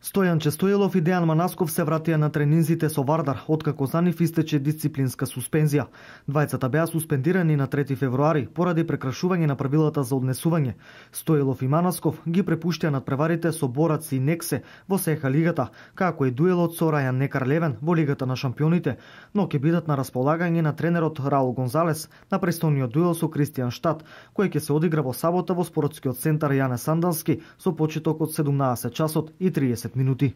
Стојанче Стоилов и Дејан Манасков се вратија на тренинзите со Вардар, откако за нив истече дисциплинска суспензија. Двајцата беа суспендирани на 3 февруари поради прекрашување на правилата за однесување. Стоилов и Манасков ги препуштија надпреварите со Борац и Нексе во СХ лигата, како и дуелот со Рајан Некар-Левен во Лигата на шампионите, но ќе бидат на располагање на тренерот Раул Гонзалес на престојниот дуел со Кристијан Штат, кој ќе се одигра во сабота во спортскиот центар Јане Сандански со почеток од 17 часот и 30 минути.